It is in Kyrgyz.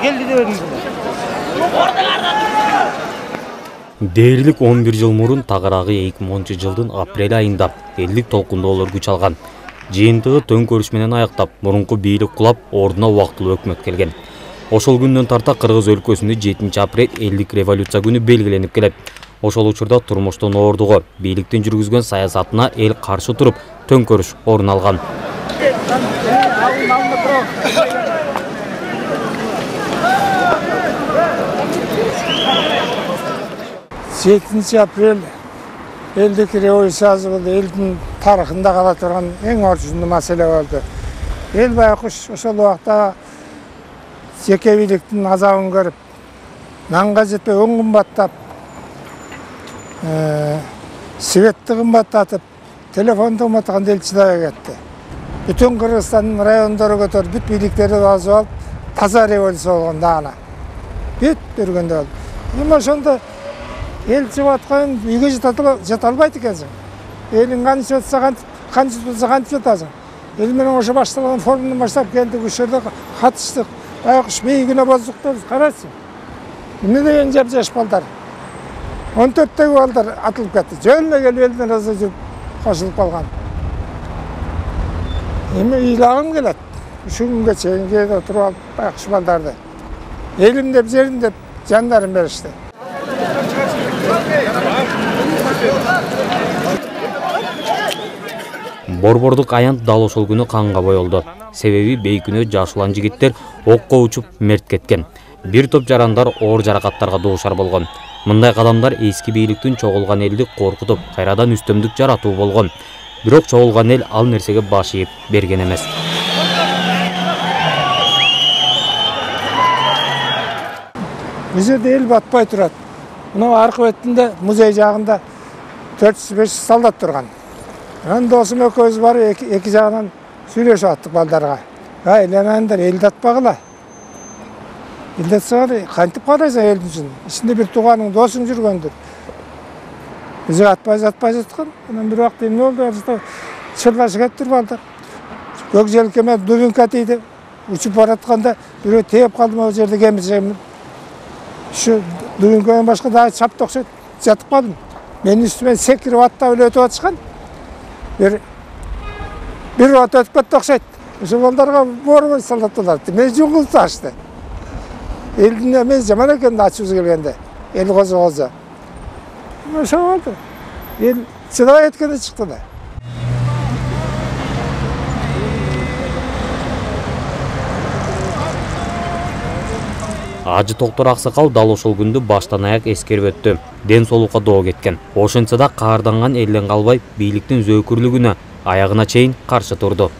келди деп едиңиз. Дээрлик 11 жыл мурун тагыраагы 2010-жылдын апрель айында элдик толкундоолор күч алган. Жыйынтыгы төңкөрүш менен аяктап, мурунку бийлик кулап, ордуна убактылуу өкмөт келген. Ошол күндөн тарта Кыргыз өлкөсүндө 7 апрель элдик революция күнү белгиленип келет. Ошол учурда турмуштун оордугу, бийликтин жүргүзгөн саясатына эл каршы туруп, төңкөрүш орун алган. 7 апрель элдик революциясы болду. Элдин тарыхында кала турган эң орчундуу маселе болду. Эл байкуш ошол убакта жеке бийликтин азабын көрүп, нанга жетпей өң кымбаттап, светти кымбаттатып, телефонду кымбаттаган эл чыдабай кетти. Бүтүн Кыргызстандын райондору көтөрүп, бүт бийликтерди басып алып, таза революция болгон дагана. Бүт бергенде болду. Эми ошондо эл чыгып аткан үйгө жата албайт экенсиң. Элиң кантип жатса, кантип болсо кантип жатасың. Эл менен ошо башталган форумдан баштап келдик, ошол катыштык. Байкуш бейгине боздук деп карачы. Эмне деген жап-жаш балдар. 14-теги балдар атылып кетти. Жөнүнө келип элдин арасына жүрүп кошулуп калган. Эми ыйлагым келет. Ушул күнгө чейин кээде отуруп алып байкуш балдарды. Элим деп, жерим деп жандарын беришти. Борбордук аянт дал ошол күнү канга боелду. Себеби бейкүнөө жаш улан жигиттер окко учуп мерт кеткен. Бир топ жарандар оор жаракаттарга дуушар болгон. Мындай кадамдар эски бийликтин чогулган элди коркутуп, кайрадан үстөмдүк жаратуу болгон. Бирок чогулган эл ал нерсеге баш ийип берген эмес. Бул жерде эл батпай турат. Мына аркы бетинде музей жагында 400-500 солдат турган. Анан досум экөөбүз барып эки жагынан сүйлөшүп аттык балдарга. Айланаңдар, элди атпагыла. Элди атсаңар кантип карайсың элдин үчүн? Ичинде бир тууганың, досуң жүргөндүр. Биз атпай жаткан. Анан бир убакта эмне болду? Чырлашып кетиптир балдар. Көк желкеме дубинка тийди. Учуп баратканда бирөө тээп калды могу жерде кемиржем. Şu duyunkodan başka daha çap toksa yatıp kaldım. Benim üstüme sekirip hatta öyle ötüp atışkan. Bir vat ötüp kat toksaydı. Şu baldarga boru sallattılar. Men jungultu açtı. Eldin emez zaman eken de açıbız gelgende. El koza. Şu oldu. El çıdabay etkende çıktı da. Ажы Токтор Аксакал дал ошол күндү баштан аяк эскерип өттү. Ден соолукка доо кеткен. Ошентсе да каарданган элден калбай бийликтин зөөкүрлүгүнө аягына чейин каршы турду.